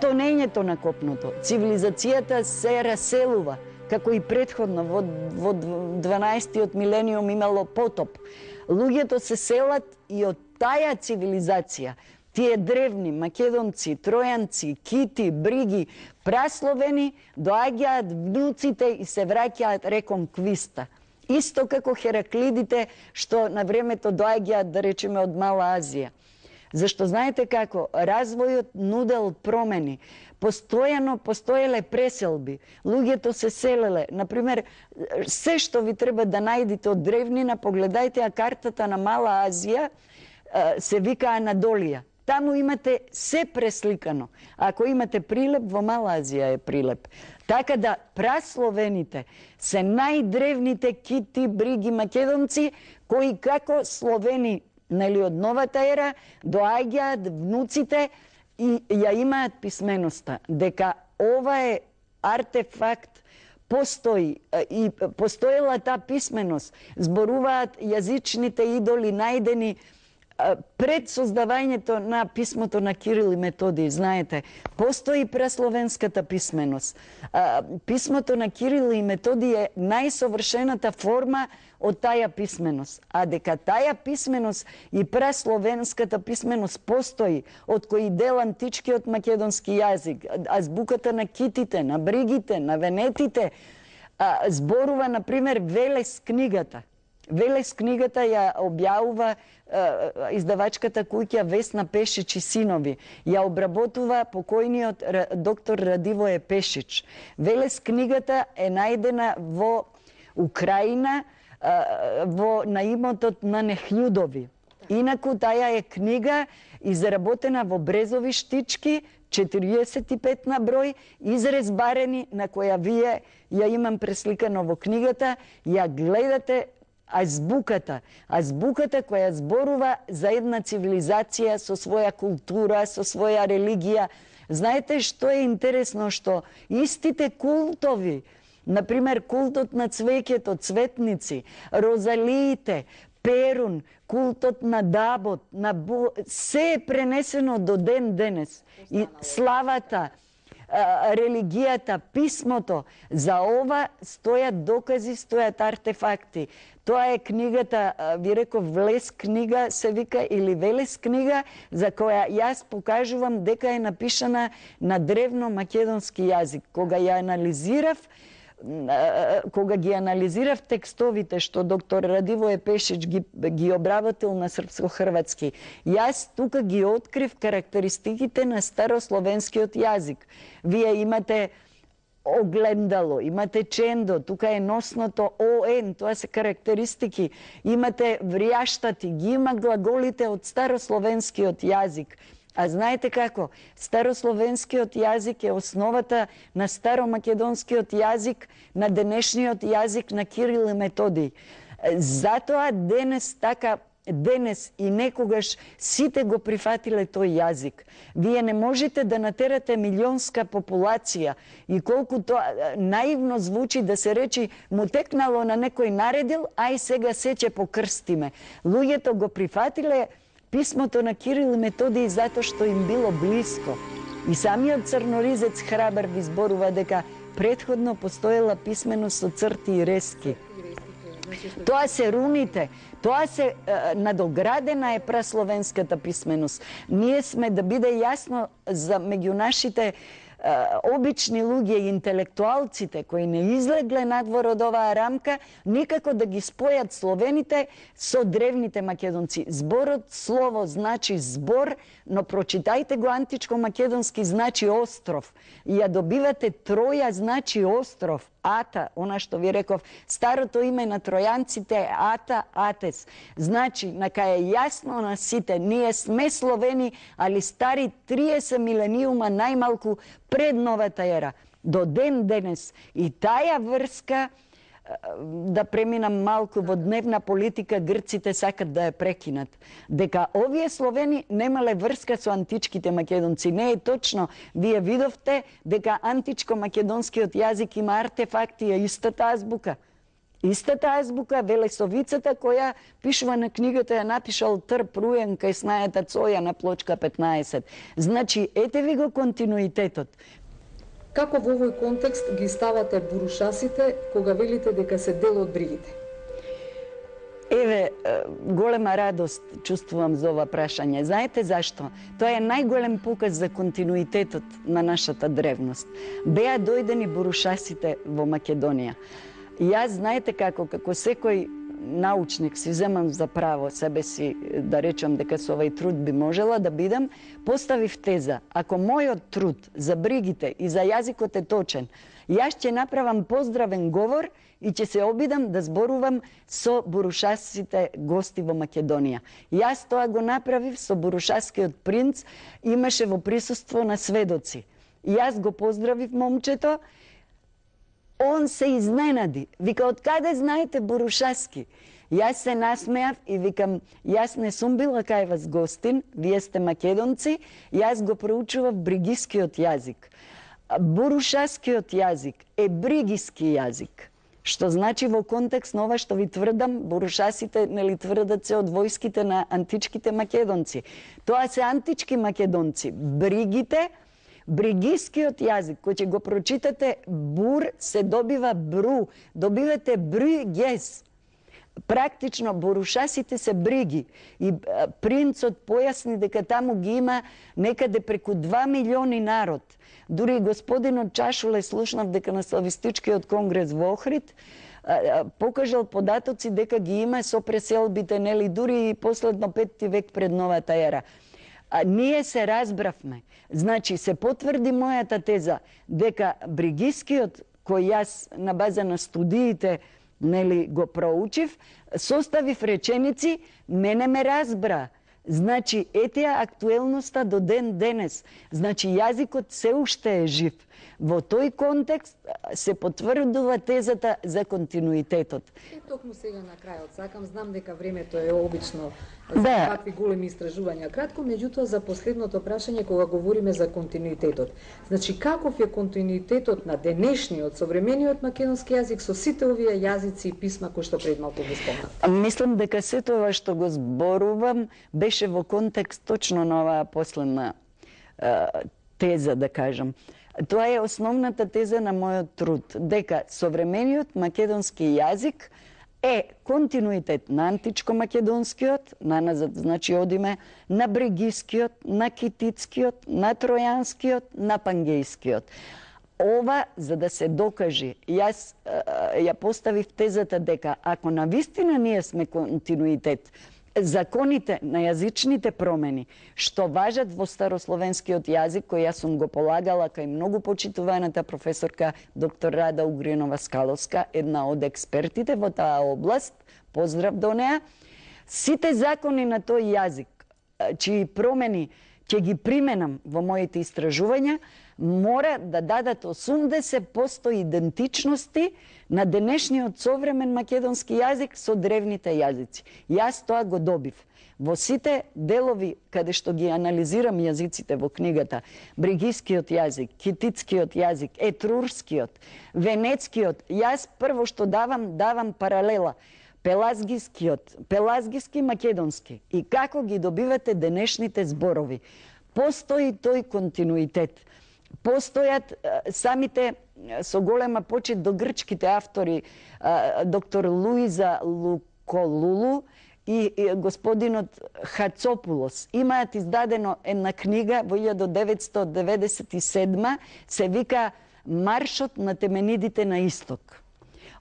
тонењето на копното. Цивилизацијата се раселува, како и претходно во 12-тиот милениум имало потоп. Луѓето се селат и од таа цивилизација, тие древни македонци, тројанци, кити, бриги, прасловени, доаѓаат внуците и се враќаат реком Квиста. Исто како Хераклидите што на времето доаѓаат, да речеме, од Мала Азија. Зашто знаете како, развојот нудел промени. Постојано постоеле преселби. Луѓето се селеле. Например, се што ви треба да најдете од древнина, погледајте ја картата на Мала Азија, се вика Анадолија. Таму имате се пресликано. Ако имате Прилеп, во Мала Азија е Прилеп. Така да прасловените се најдревните кити, бриги, македонци, кои како словени, нели, од новата ера, доаѓаат внуците и ја имаат писменоста. Дека ова е артефакт, постои и постоела таа писменост. Зборуваат јазичните идоли најдени пред создавањето на писмото на Кирил и Методиј. Знаете, постои прасловенската писменост. Писмото на Кирил и Методиј е најсовршената форма од таа писменост. А дека таа писменост и прасловенската писменост постои, од кои дел античкиот македонски јазик, азбуката на китите, на бригите, на венетите, зборува, например, Велес книгата. Велес книгата ја објавува издавачката куќа Весна Пешич и синови. Ја обработува покојниот доктор Радивое Пешич. Велес книгата е најдена во Украина, на имотот на Нехљудови. Инаку таа е книга изработена во брезови штички, 45 на број, изрез барени, на која вие ја имам пресликано во книгата, ја гледате азбуката која зборува за една цивилизација со своја култура, со своја религија. Знаете што е интересно, што истите култови, например култот на цвеќето, цветници, розалиите, Перун, култот на Дабот, се е пренесено до ден денес. И славата, религијата, писмото, за ова стојат докази, стојат артефакти. Тоа е книгата, ви реков, Влес книга се вика, или Велес книга, за која јас покажувам дека е напишана на древно македонски јазик. Кога ги анализирав текстовите што доктор Радивое Пешич ги обработил на српско-хрватски, јас тука ги открив карактеристиките на старословенскиот јазик. Вие имате огледало, имате чендо, тука е носното ОН, тоа се карактеристики, имате вријаштати, ги има глаголите од старословенскиот јазик. А знаете како? Старословенскиот јазик е основата на старомакедонскиот јазик, на денешниот јазик на Кирил и Методиј. Затоа денес и некогаш сите го прифатиле тој јазик. Вие не можете да натерате милионска популација и колку тоа наивно звучи да се речи му текнало на некој наредил, ај сега се ќе покрстиме. Луѓето го прифатиле писмото на Кирил и Методиј затоа што им било блиско. И самиот црноризец Храбар ви зборува дека претходно постоела писменост со црти и рески. Тоа се руните, тоа се надоградена е прасловенската писменост. Ние сме, да биде јасно за меѓу нашите обични луѓе и интелектуалците кои не излегле надвор од оваа рамка, никако да ги спојат словените со древните македонци. Зборот слово значи збор, но прочитајте го античко македонски значи остров. И ја добивате Троја значи остров. Ата, она што ви реков, старото име на тројанците е Ата, Атес. Значи, нака е јасно на сите, ние сме словени, али стари 30 милениума најмалку пред новата ера. До ден денес. И таа врска, да преминам малку во дневна политика, грците сакат да ја прекинат. Дека овие словени немале врска со античките македонци. Не е точно. Вие видовте дека античко-македонскиот јазик има артефакти, е истата азбука. Истата азбука, Велесовицата, која пишува на книгата, ја напишал Трп Руен кај снајата Цоја на плочка 15. Значи, ете ви го континуитетот. Како во овој контекст ги ставате бурушасите кога велите дека се дел од бригите? Еве, голема радост чувствувам за ова прашање. Знаете зашто? Тоа е најголем показ за континуитетот на нашата древност. Беа дојдени бурушасите во Македонија. Јас, знаете како секој научник си земам за право себе си да речам дека со овај труд би можела да бидам, поставив теза. Ако мојот труд за бригите и за јазикот е точен, јас ќе направам поздравен говор и ќе се обидам да зборувам со бурушасите гости во Македонија. Јас тоа го направив со бурушаскиот принц, имаше во присуство на сведоци. Јас го поздравив момчето, он се изненади. Вика, од каде знаете бурушаски? Јас се насмеав и викам, јас не сум била кај вас гостин, вие сте македонци, јас го проучував бригискиот јазик. Бурушаскиот јазик е бригиски јазик. Што значи во контекст на ова што ви тврдам, бурушасите нели тврдат се од војските на античките македонци. Тоа се антички македонци. Бригите, бригискиот јазик, кој ќе го прочитате бур, се добива бру, добивате бригес. Практично бурушасите се бриги и принцот појасни дека таму ги има некаде преку 2 милиони народ. Дури господинот Чашуле слушнав дека на Славистичкиот конгрес во Охрид покажал податоци дека ги има со преселбите, нели дури и последно 5 век пред новата ера. Ние се разбравме. Значи се потврди мојата теза дека бригискиот кој јас на база на студиите нели го проучив, составив реченици, мене ме разбра. Значи, етија актуелноста до ден денес. Значи, јазикот се уште е жив. Во тој контекст се потврдува тезата за континуитетот. И токму сега на крајот, сакам, знам дека времето е обично за какви големи истражувања. Кратко, меѓутоа, за последното прашање, кога говориме за континуитетот. Значи, каков е континуитетот на денешниот, современиот македонски јазик со сите овие јазици и писма кои што пред малку ги спомнат? Мислам дека сето ова што го зборувам беше во контекст точно на оваа последна теза, да кажам. Тоа е основната теза на мојот труд, дека современиот македонски јазик е континуитет на античко-македонскиот, наназад, значи одиме на бригискиот, на кититскиот, на тројанскиот, на пангејскиот. Ова, за да се докажи, јас ја поставив тезата дека ако навистина ние сме континуитет, законите на јазичните промени што важат во старословенскиот јазик, кој јас сум го полагала кај многу почитуваната професорка доктор Рада Угринова Скаловска, една од експертите во таа област, поздрав до неа, сите закони на тој јазик, чии промени ќе ги применам во моите истражувања, мора да дадат 80% идентичности на денешниот современ македонски јазик со древните јазици. Јас тоа го добив. Во сите делови каде што ги анализирам јазиците во книгата, бригискиот јазик, кититскиот јазик, етрурскиот, венецкиот, јас прво што давам паралела. Пелазгиски македонски. И како ги добивате денешните зборови? Постои тој континуитет. Постојат самите со голема почит до грчките автори, доктор Луиза Луколулу и господинот Хацопулос. Имаат издадено една книга во 1997, се вика Маршот на теменидите на исток.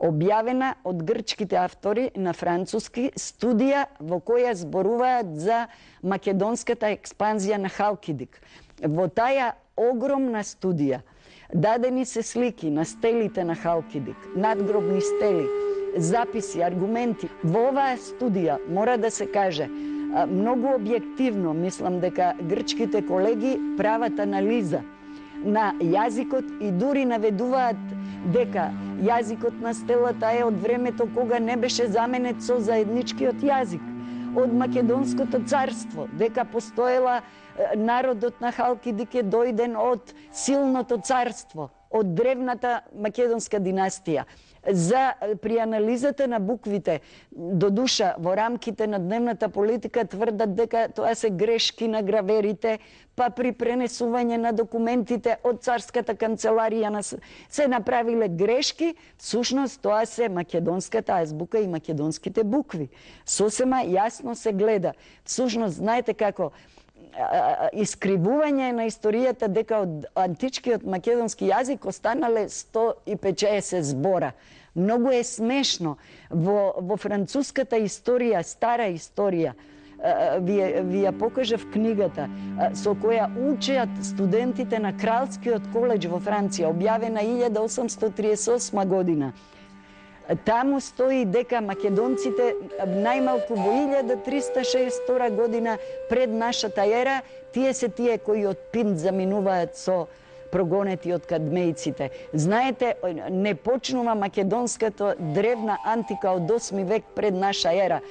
Објавена од грчките автори на француски, студија во која зборуваат за македонската експанзија на Халкидик. Во таја огромна студија дадени се слики на стелите на Халкидик, надгробни стели, записи, аргументи. Во оваа студија мора да се каже, многу објективно, мислам дека грчките колеги прават анализа на јазикот и дури наведуваат дека јазикот на стелата е од времето кога не беше заменет со заедничкиот јазик, од Македонското царство, дека постоела народот на Халкидик е дојден од силното царство, од древната македонска династија. при анализата на буквите. До душа, во рамките на дневната политика тврдат дека тоа се грешки на граверите, па при пренесување на документите од царската канцеларија се направиле грешки, всушност тоа се македонската азбука и македонските букви. Сосема јасно се гледа. Всушност, знаете како, искривување на историјата дека од античкиот македонски јазик останале 150 збора. Многу е смешно. Во француската историја, стара историја, ви ја покажав книгата со која учеат студентите на Кралскиот коледж во Франција, објавена 1838 година. Таму стои дека македонците најмалку во 1362 година пред нашата ера, тие се тие кои од Пинт заминуваат со прогонети од кадмејците. Знаете, не почнува македонската древна антика од 8 век пред наша ера.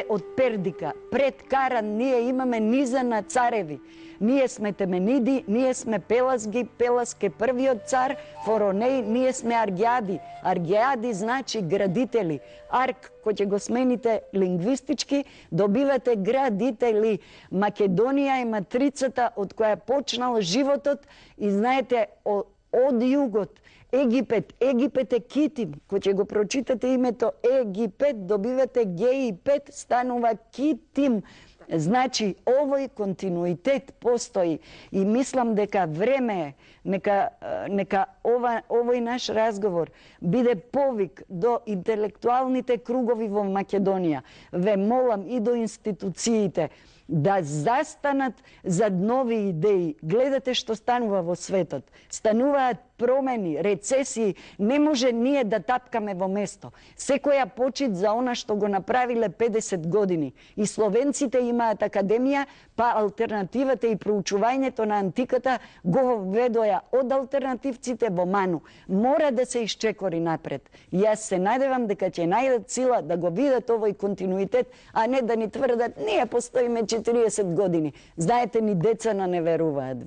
Од Пердика, пред Каран, ние имаме низа на цареви. Ние сме Темениди, ние сме Пелазги, Пеласк е првиот цар, Форонеј, ние сме Аргиади. Аргиади значи градители. Арк, кој ќе го смените лингвистички, добивате градители. Македонија е матрицата од која почнал животот и знаете, од југот, Египет е Китим, кој ќе го прочитате името Египет, добивате Г-5, станува Китим. Значи, овој континуитет постои и мислам дека време е, нека овој наш разговор биде повик до интелектуалните кругови во Македонија. Ве молам и до институциите да застанат зад нови идеи. Гледате што станува во светот. Стануваат промени, рецесии. Не може ние да тапкаме во место. Секоја почит за она што го направиле 50 години. И словенците имаат академија, па алтернативата и проучувањето на антиката го введоја од алтернативците во ману. Мора да се исчекори напред. И јас се надевам дека ќе најдат сила да го видат овој континуитет, а не да ни тврдат ние постоиме 40 години. Знаете, ни деца не веруваат.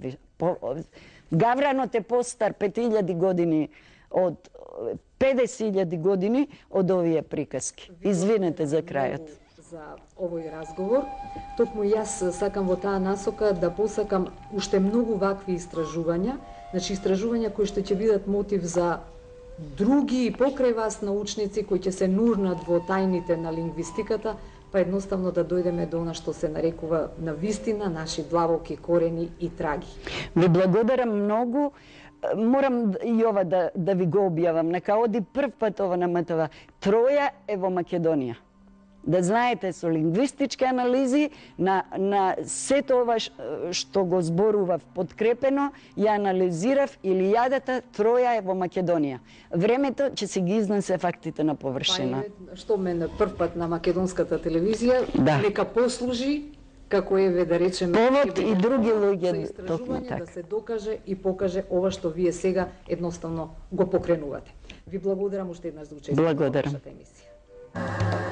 Гавранот е постар 5000 години од 50.000 години од овие приказки. Извинете за крајот. За овој разговор, токму јас сакам во таа насока да посакам уште многу вакви истражувања, значи истражувања кои што ќе бидат мотив за други покрај вас научници кои ќе се нурнат во тајните на лингвистиката, па едноставно да дојдеме до она што се нарекува на вистина наши длабоки корени и траги. Ви благодарам многу. Морам и ова да ви го објавам. Нека оди прв пат ова на МТВ. Троја е во Македонија. Да знаете, со лингвистички анализи на сето ова што го зборував подкрепено, ја анализирав илијадата, Троја е во Македонија. Времето ќе се ги изнесе фактите на површина. Што мене прв пат на македонската телевизија, нека послужи како еве да речеме повод и други луѓе истражување да се докаже и покаже ова што вие сега едноставно го покренувате. Ви благодарам уште еднаш за учество во вашата емисија.